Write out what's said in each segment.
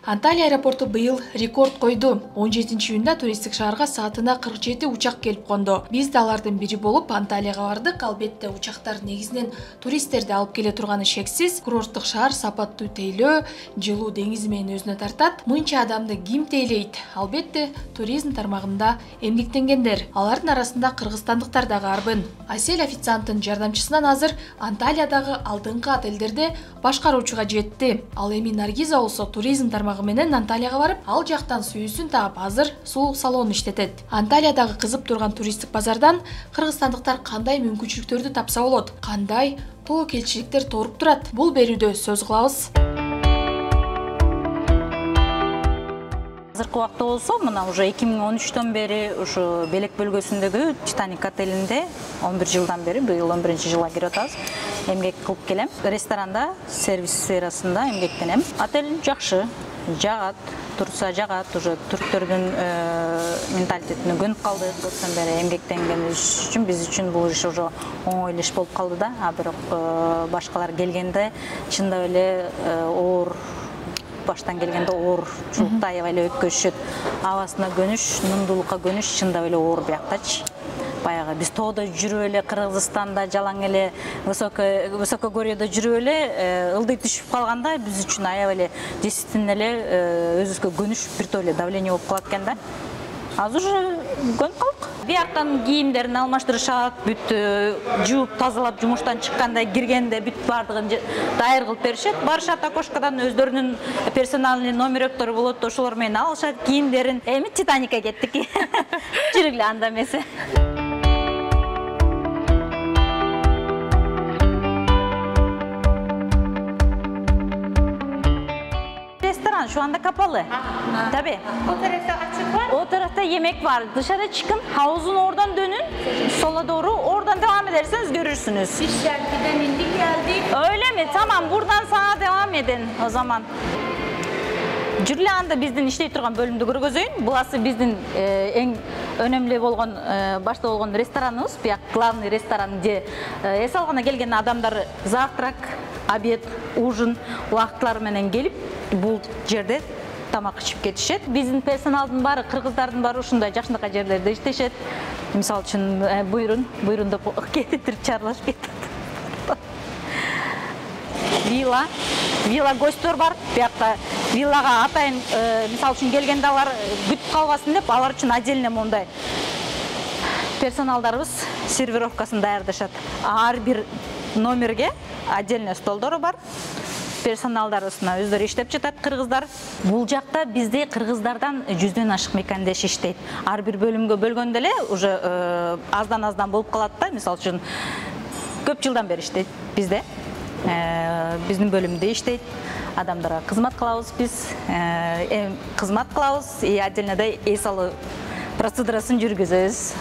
Анталия аэропорту быйыл рекорд койду. 17-июнда туристтик шаарга саатына 47 учак келип конду. Биз да алардын бири болуп Анталияга бардык. Албетте учактар негизинен туристтерди алып келе турганы шексиз. Курорттук шаар сапаттуу тейлөө, жылуу деңизи менен өзүнө тартат. Мынча адамды ким тейлейт? Албетте туризм тармагында эмгектенгендер. Алардын арасында кыргызстандыктар дагы арбын. Асель официанттын жардамчысынан азыр Анталиядагы алдыңкы отелдерде башкаруучуга жетти. Ал эми Наргиза болсо туризм тармагы менен Анталияга барып, ал жактан сүйүүсүн таап, азыр сулук салон иштетет. Анталиядагы кызып турган туристтик базардан кыргызстандыктар кандай мүмкүнчүлүктөрдү тапса болот? Кандай тобокелчиликтер торуп турат? Бул берүүдө сөз кылабыз. Азыркы убакта болсо, мына уже 2013төн бери ушу Белек бөлгөсүндөгү Титаник отелинде 11 жылдан бери, быйыл 11-жылга кирип атабыз. Эмгек кылып келем. Ресторанда, сервис сферасында эмгектенем. Отель жакшы, жагат, турса жагат, уже түрктөрдүн менталитетине көнүп калдык. Көптөн бери эмгектенгенибиз үчүн биз үчүн бул иш уже оңой иш болуп калды да. А бирок башкалар келгенде чындап эле оор баштан келгенде оорчулукта аябай эле өткөзүшөт. Абасына көнүш, нундуулукка көнүш чындап эле оор бияктачы. Баягы биз тоодо жүрүп эле Кыргызстанда жалаң эле высокогорьедо жүрүп эле ылдый түшүп калганда биз үчүн аябай эле действительно эле өзүбүзгө көнүш биртип эле давление болуп калат экен да. Азыр уже көнүп калдык. Бияктан кийимдерин алмаштырышат, бүт жууп тазалап жумуштан чыкканда киргенде бүт бардыгын дайыр кылып беришет. Барышат окошкадан өздөрүнүн персональный номероктору болот, ошолор менен алышат кийимдерин. Эми Титаникке кеттик. Жүргүлө анда эмесе. Şu anda kapalı. Tabii. O tarafta açık var. O tarafta yemek var. Dışarı çıkın, havuzun oradan dönün. Sola doğru. Oradan devam ederseniz görürsünüz. Biz Şarkı'dan indik geldik. Öyle mi? Tamam. Buradan sağa devam edin o zaman. Жүргүлө анда биздин иштей турган бөлүмдү көргөзөйүн. Буласы биздин эң өнөмлүү болгон, башта болгон рестораныбыз. Бияк главный ресторан же эс алганда келген адамдар завтрак, обед, ужин убакытлары менен келип, бул жерде тамак ичип кетишет. Биздин персоналдын баары, кыргыздардын баары ушундай жакшынакай жерлерде иштешет. Мисалы үчүн буйрун деп кетип чарлашып кетет. Вилла гостьтор бар. Биякта виллага атайын, мисалы үчүн келгенде алар күтүп калбасын деп, алар үчүн отдельно мондай персоналдарыбыз сервировкасын даярдашат. Ар бир номерге отдельно столдору бар. Персоналдарыбызна өздөрү иштеп жатат кыргыздар. Бул жакта бизде кыргыздардан 100дөн ашык мекандеш иштейт. Ар бир бөлүмгө бөлгөндө эле уже аздан болуп калат да. Мисалы үчүн көп жылдан бери иштейт бизде. Биздин бөлүмдө иштейт. Адамдарга кызмат кылабыз биз. Кызмат кылабыз, отдельно да эс алуу процедурасын жүргүзөбүз.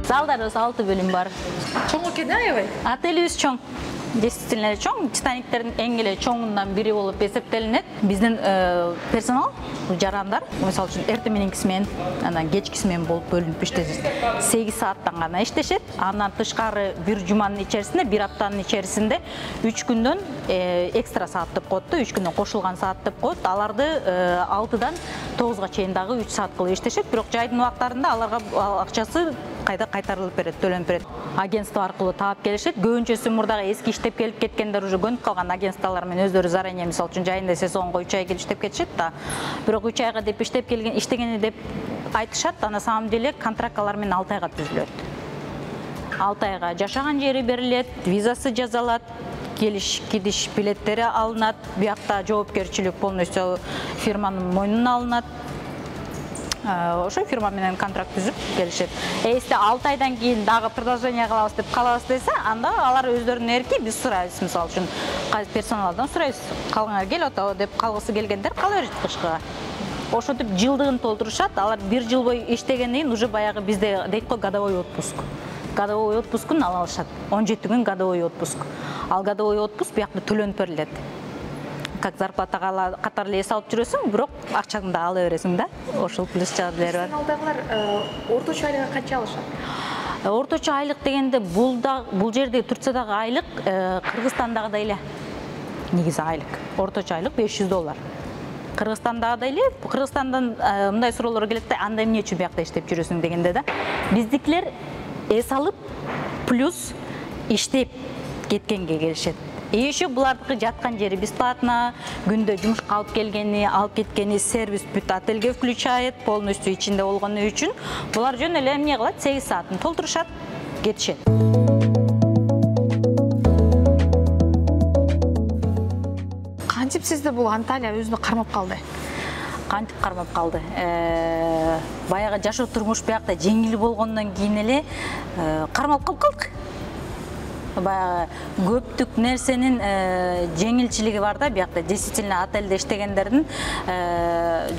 Залдарыбыз 6 бөлүм бар. Чоң экен аябай. Отелибиз чоң. Действительно чоң. Титаниктердин эң эле чоңунан бири болуп эсептелинет. Биздин персонал жарандар, мисалы үчүн эртең мененкиси менен, анан кечкиси менен болуп бөлүнүп иштешет. 8 сааттан гана иштешет. Андан тышкары бир жуманын ичерисинде, бир аптанын ичерисинде 3 күндөн экстра саат деп коет да, 3 күндөн кошулган саат деп коет. Аларды 6-дан 9га чейин дагы 3 саат кылып иштешет. Бирок жайдын убактарында аларга акчасы кайда кайтарылып берет, төлөнүп берет. Агентство аркылуу таап келишет. Көбүнчөсү мурдагы эски иштеп келип кеткендер уже көнүп калган агентстволор менен өздөрү заранее, мисалы үчүн жайында сезонго 3 ай келип иштеп кетишет да. Бирок 3 айга деп иштеп келген, иштегени деп айтышат, а на самом деле контракт алар менен 6 айга түзүлөт. 6 айга жашаган жери берилет, визасы жазалат, келиш кидиш билеттери алынат. Биякта жоопкерчилик полностью фирманын мойнуна алынат. Ошо фирма менен контракт түзүп келишет. Эсте 6 айдан кийин дагы продолжение кылабыз деп калабыз десе, анда алар өздөрүнүн эрки, биз сурайбыз, мисалы үчүн персоналдан сурайбыз. Калгаңар кел ото деп калгысы келгендер кала берет кышкыга. Ошентип жылдыгын толтурушат. Алар 1 жыл бою иштегенден кийин уже баягы бизде дейт го годовой отпуск. Годовой отпускун ала алышат. 17 күн годовой отпуск. Ал годовой отпуск биякта төлөнүп берилет. Как зарплатага катар эле эс алып жүрөсүң, бирок акчаңды да ала бересиң да. Ошол плюс жагдайлар бар. Персоналдагылар орточо айлыкка канча алышат? Орточо айлык дегенде бул жерде Турциядагы айлык Кыргызстандагыдай эле. негизи айлык. Орточо айлык $500. Кыргызстандагыдай эле, Кыргызстандан мындай суроолор келет да, анда эмне үчүн биякта иштеп жүрөсүң дегенде да. Биздикилер эс алып плюс иштеп кеткенге келишет. Еще булардыкы жаткан жери бесплатно, күндө жумушка алып келгени, алып кеткени, сервис бүт отельге включает, полностью ичинде болгону үчүн булар жөн эле эмне кылат, 8 саатын толтурушат, кетишет. Кантип сизди бул Анталия өзүнө кармап калды? Кантип кармап калды? Баягы жашоо турмуш биякта жеңил болгондон кийин эле кармалып калдык. Баягы көптүк нерсенин жеңилчилиги бар да, биякта действительно отельде иштегендердин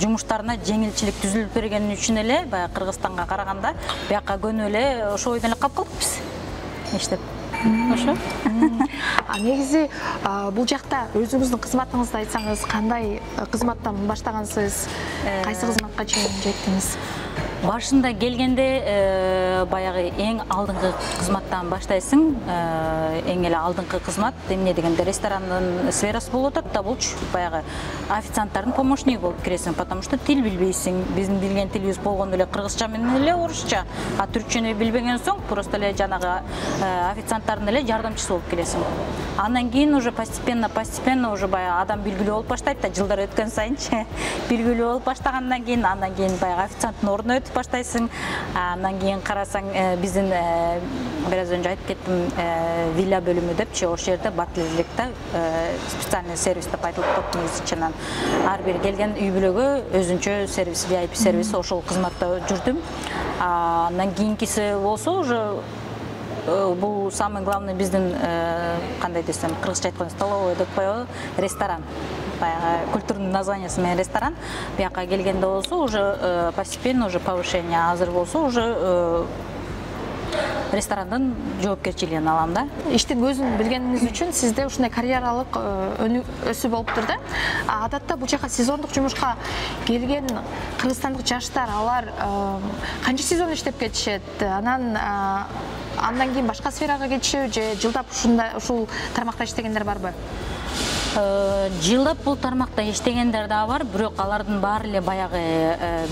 жумуштарына жеңилчилик түзүлүп бергени үчүн эле баягы Кыргызстанга караганда биякка көнүп эле ошо ойдон эле калып калдык биз. Иштеп. Ошо. Негизи бул жакта өзүңүздүн кызматыңызды айтсаңыз, кандай кызматтан баштагансыз? Кайсы кызматка чейин жеттиңиз? Башында келгенде баягы эң алдыңкы кызматтан баштайсың. Эң эле алдыңкы кызмат эмне дегенде ресторандын сферасы болуп атат да, булчу баягы официанттардын помощниги болуп киресиң, потому что тил билбейсиң. Биздин билген тилибиз болгондо эле кыргызча менен эле орусча, а түркчөнү билбеген соң просто эле жанагы официанттардын эле жардамчысы болуп келесиң. Андан кийин уже постепенно уже баягы адам билгилүү болуп баштайт да, жылдар өткөн сайынчы билгилүү болуп баштагандан кийин, андан кийин баягы официанттын ордуна өтүп баштайсың. Андан кийин карасаң, биздин бир аз önce айтып кеттим, вилла бөлүмү депчи, ошол жерде батлерликте специальный сервис деп айтылып коет негизи чынан. Ар бир келген үй бүлөгө өзүнчө сервис, VIP сервис, ошол кызматта жүрдүм. Андан кийинкиси болсо уже бул самый главный биздин кандай десем, кыргызча айтканда столовый деп коебу, ресторан. Баягы культурный названиясы менен ресторан. Биякка келгенде болсо уже постепенно уже повышение азыр болсо уже ресторандын жоопкерчилигин алам да. Иштин өзүн билгениңиз үчүн сизде ушундай карьералык өсүү болуптур да. Адатта бул жака сезондук жумушка келген кыргызстандык жаштар, алар канча сезон иштеп кетишет? Андан кийин башка сферага кетишеби же жылдап ушул тармакта иштегендер барбы? Жылдап бул тармакта иштегендер да бар, бирок алардын баары эле баягы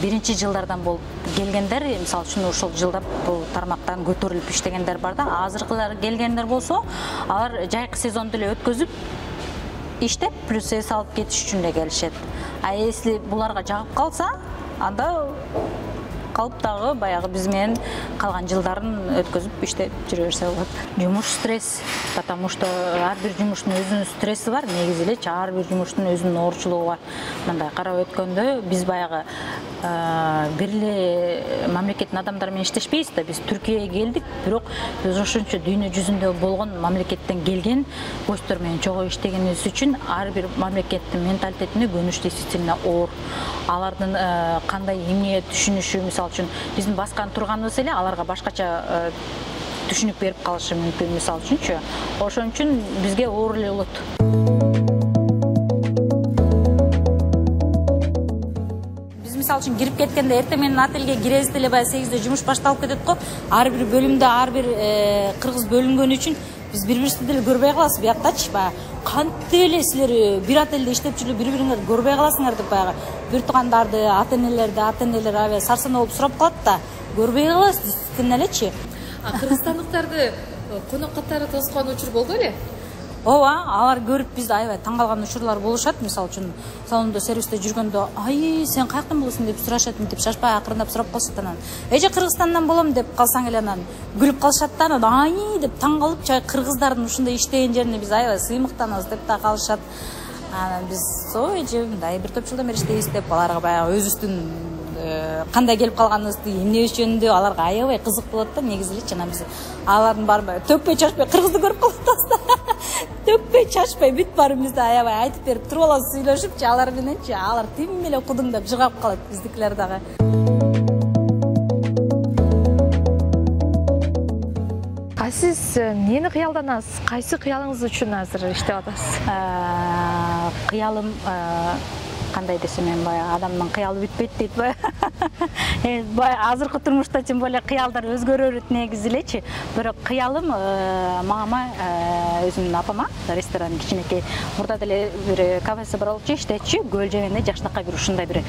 биринчи жылдардан болуп келгендер, мисалы үчүн ушул жылдап бул тармактан көтөрүлүп иштегендер бар да. Азыркылар келгендер болсо, алар жайкы сезонду эле өткөзүп иштеп, плюс эс алып кетиш үчүн эле келишет. А если буларга жагып калса, анда калып дагы баягы биз менен калган жылдарын өткөзүп иштеп жүрө берсе болот. Жумуш стресс, потому что ар бир жумуштун өзүнүн стресси бар, негизи элечи ар бир жумуштун өзүнүн оорчулугу бар. Мындай карап өткөндө биз баягы бир эле мамлекеттин адамдары менен иштешпейбиз да. Биз Түркияга келдик, бирок биз ошончо дүйнө жүзүндө болгон мамлекеттен келген госттор менен чогуу иштегенибиз үчүн ар бир мамлекеттин менталитетине көнүш действительно оор. Алардын кандай эмне түшүнүшү, мисалы үчүн биздин баскан турганыбыз эле аларга башкача түшүнүк берип калышы мүмкүн, мисалы үчүнчү. Ошон үчүн бизге оор эле болот. Мисалы үчүн кирип кеткенде эртең менен отельге киребиз деле баягы 8-де жумуш башталып кетет го. Ар бир бөлүмдө ар бир кыргыз бөлүнгөн үчүн биз бири-бирибизди деле көрбөй калабыз. Бияктачы баягы кантип эле силер бир отельде иштеп жүрүп бири-бириңерди көрбөй каласыңар деп баягы бир туугандарды, ата-энелер аябай сарсанаа болуп сурап калат да. Көрбөй калабыз действительно элечи. Кыргызстандыктарды конок катары тоскон учур болду эле? Ооба, алар көрүп бизди аябай таң калган учурлар болушат. Мисалы үчүн салондо сервисте жүргөндө, "Ай, сен каяктан болосуң?" деп сурашат, мынтип шашпай акырындап сурап калышат анан. "Эже Кыргызстандан болом" деп калсаң эле анан күлүп калышат да, анан "Ай" деп таң калып, чай кыргыздардын ушундай иштеген жерине биз аябай сыймыктанабыз деп да калышат. Анан биз эже мындай бир топ жылдан бери иштейбиз деп аларга баягы өзүбүздүн кандай келип калганыбызды, эмне жөнүндө аларга аябай кызык болот да, негизи эле. Жана биз алардын баары төкпөй чачпай кыргызды көрүп калып атабыз да. Төкпөй чачпай бүт баарыбызды аябай айтып берип туруп алабыз сүйлөшүпчү алар мененчи. Алар тим эле кудуңдап жыгап калат биздикилер дагы. Сиз эмнени кыялданасыз? Кайсы кыялыңыз үчүн азыр иштеп атасыз? Кыялым кандай десем, мен баягы адамдын кыялы бүтпөйт дейт баягы. Азыркы турмушта тем более кыялдар өзгөрөт негизи элечи. Бирок кыялым мама өзүмдүн апама ресторан кичинекей мурда деле бир кафеси бар болчу, иштечү, көл жегенде жакшынакай бир ушундай бир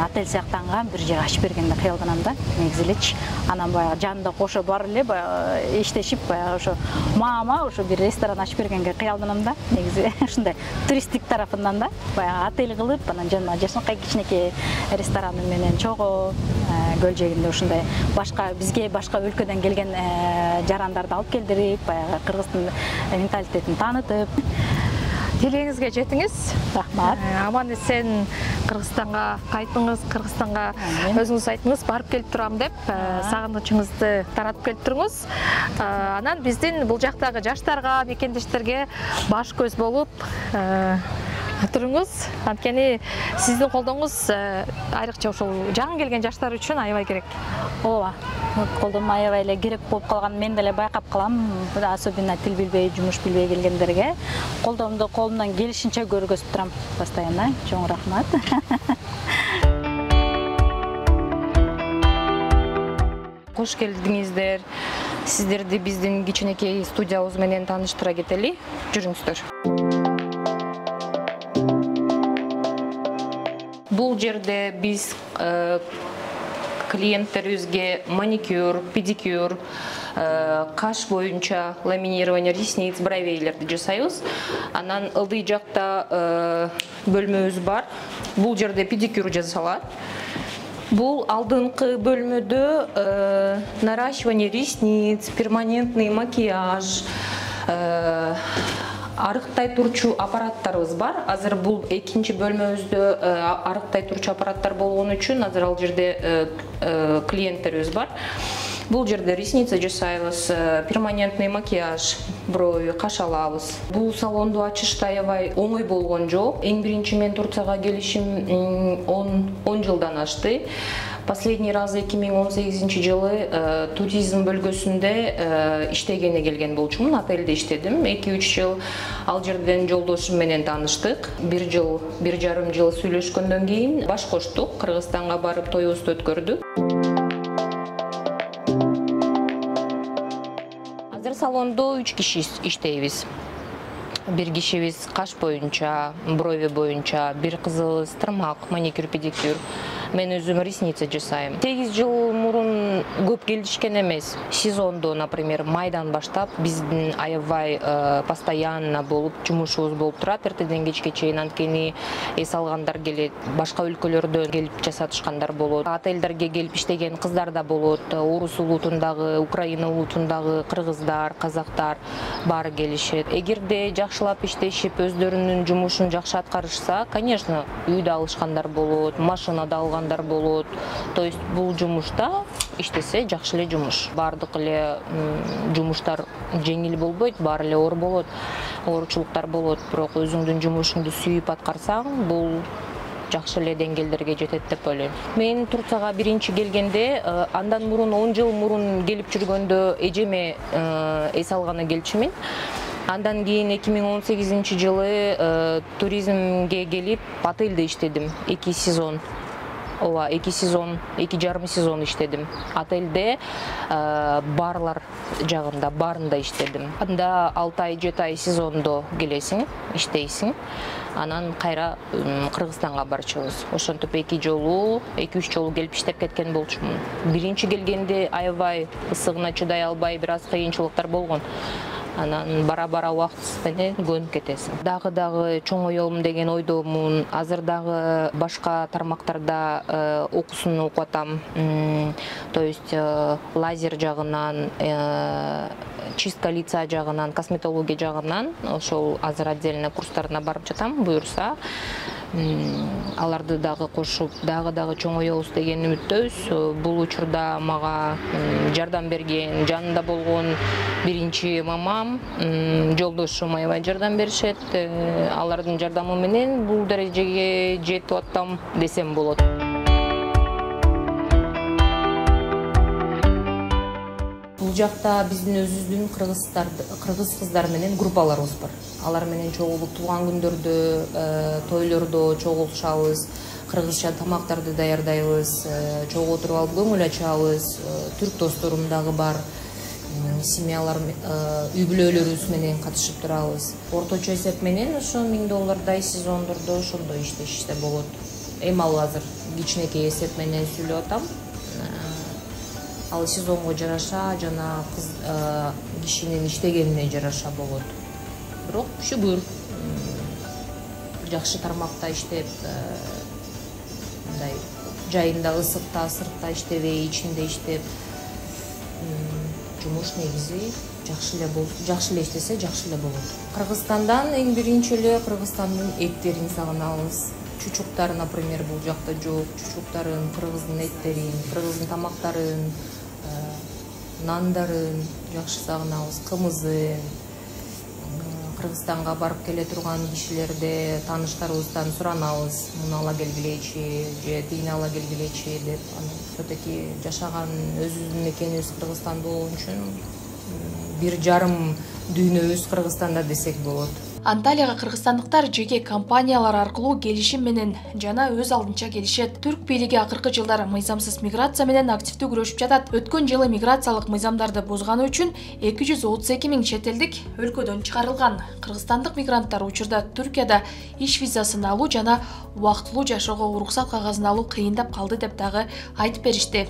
отель сыяктанган бир жер ачып бергенде кыялданам да негизи элечи. Анан баягы жанында кошо бар эле иштешип баягы ошо мама ошо бир ресторан ачып бергенге кыялданам да негизи ушундай туристтик тарафынан да баягы отель кылып анан жанына жакшынакай кичинекей рестораны менен чогуу көл жээгинде ушундай башка бизге башка өлкөдөн келген жарандарды алып келдирип баягы кыргыздын менталитетин таанытып. Тилегиңизге жетиңиз. Рахмат. Аман эсен Кыргызстанга кайтыңыз, Кыргызстанга өзүңүз айтыңыз, барып келип турам деп, сагынычыңызды таратып келип туруңуз. Анан биздин бул жактагы жаштарга, мекендештерге баш көз болуп туруңуз. Анткени сиздин колдооңуз айрыкча ошол жаңы келген жаштар үчүн аябай керек. Ооба. Колдом аябай эле керек болуп калган мен деле байкап калам. Особенно тил билбей, жумуш билбей келгендерге колдомду колумдан келишинче көргөзүп турам постоянно. Чоң рахмат. Кош келдиңиздер. Сиздерди биздин кичинекей студиябыз менен тааныштыра кетели. Жүрүңүздөр. Бул жерде биз клиенттерибизге маникюр, педикюр, каш боюнча ламинирование ресниц, бровейлерди жасайбыз. Анан ылдый жакта бөлмөбүз бар. Бул жерде педикюр жасалат. Бул алдыңкы бөлмөдө наращивание ресниц, перманентный макияж, арыктай турчу аппараттарыбыз бар. Азыр бул экинчи бөлмөбүздө арыктай турчу аппараттар болгон үчүн азыр ал жерде клиенттерибиз бар. Бул жерде ресница жасайбыз, перманентный макияж, брови, каш алабыз. Бул салонду ачышта аябай оңой болгон жок. Эң биринчи мен Турцияга келишим 10 жылдан ашты. Последний раз 2018 жылы туризм бөлгөсүндө иштегене келген болчумун, отелде иштедим. 2-3 жыл ал жерден жолдошум менен тааныштык. 1,5 жыл сүйлөшкөндөн кийин баш коштук, Кыргызстанга барып тоюбузду өткөрдүк. Азыр салондо 3 киши иштейбиз. Бир кишибиз каш боюнча, брови боюнча, бир кызыбыз тырмак, маникюр, педикюр. Мен өзүм ресница жасайм. 8 жыл мурун көп келишкен эмес. Сезондо, например, майдан баштап биздин аябай постоянно болуп жумушубуз болуп турат. Эртеден кечке чейин анткени эс алгандар келет, башка өлкөлөрдөн келип жасатышкандар болот. Отелдерге келип иштеген кыздар да болот. Орус улутундагы, Украина улутундагы кыргыздар, казактар баары келишет. Эгерде жакшылап иштешип, өздөрүнүн жумушун жакшы аткарышса, конечно, үйдө алышкандар болот, машинада алгандар болот. То есть бул жумушта иштесе жакшы эле жумуш. Бардык эле жумуштар жеңил болбойт, баары эле оор болот. Оорчулуктар болот, бирок өзүңдүн жумушуңду сүйүп аткарсаң, бул жакшы эле деңгээлдерге жетет деп ойлойм. Мен Турцияга биринчи келгенде, андан мурун 10 жыл мурун келип жүргөндө эжеме эс алганы келчүмүн. Андан кийин 2018 жылы туризмге келип отельде иштедим 2 сезон. Ооба, 2 сезон, 2,5 сезон иштедим. Отельде барлар жагында, барында иштедим. Анда 6 ай, 7 ай сезондо келесиң, иштейсиң. Анан кайра Кыргызстанга барчубуз. Ошентип 2-3 жолу келип иштеп кеткен болчумун. Биринчи келгенде аябай ысыгына чыдай албай, бир аз кыйынчылыктар болгон. Анан бара-бара убакыт менен көнүп кетесиң. Дагы чоң оёлум деген ойдомун. Азыр дагы башка тармактарда окуусун окуп атам. То есть лазер жагынан, чистка лица жагынан, косметология жагынан ошол азыр отдельно курстарына барып жатам, буюрса. Аларды дагы кошуп, дагы чоң оёбуз деген үмүттөбүз. Бул учурда мага жардам берген, жанында болгон биринчи мамам, жолдошум аябай жардам беришет. Алардын жардамы менен бул дарежеге жетип аттам десем болот. Бул жакта биздин өзүбүздүн кыргыз кыздар менен группаларыбыз бар. Алар менен чогулуп туулган күндөрдө, тойлордо чогулушабыз. кыргызча тамактарды даярдайбыз, чогуу отуруп алып көңүл ачабыз. Түрк досторум дагы бар. Семьялар, үй бүлөлөрүбүз менен катышып турабыз. Орточо эсеп менен ошо $1000 сезондордо ошондой иштешсе болот. Эми ал азыр кичинекей эсеп менен сүйлөп атам. Ал сезонго жараша жана кишинин иштегенине жараша болот. Бирок шүгүр жакшы тармакта иштеп, мындай жайында, ысыкта, сыртта иштебей, ичинде иштеп, жумуш негизи жакшы эле иштесе жакшы эле болот. Кыргызстандан эң биринчи эле Кыргызстандын эттерин сагынабыз. Чучуктар, например, бул жакта жок. Чучуктарын, кыргыздын эттерин, кыргыздын тамактарын, нандарын жакшы сагынабыз, кымызын. Кыргызстанга барып келе турган кишилерде тааныштарыбыздан суранабыз, муну ала келгилечи, же тигини ала келгилечи деп. Все-таки жашаган өзүбүздүн мекенибиз Кыргызстан болгон үчүн 1,5 дүйнөбүз Кыргызстанда десек болот. Анталияга кыргызстандыктар жеке компаниялар аркылуу келишим менен жана өз алдынча келишет. Түрк бийлиги акыркы жылдары мыйзамсыз миграция менен активдүү күрөшүп жатат. Өткөн жылы миграциялык мыйзамдарды бузганы үчүн 232 000 чет элдик өлкөдөн чыгарылган. Кыргызстандык мигранттар учурда Түркияда иш визасын алуу жана убактылуу жашоого уруксат кагазын алуу кыйындап калды деп дагы айтып беришти.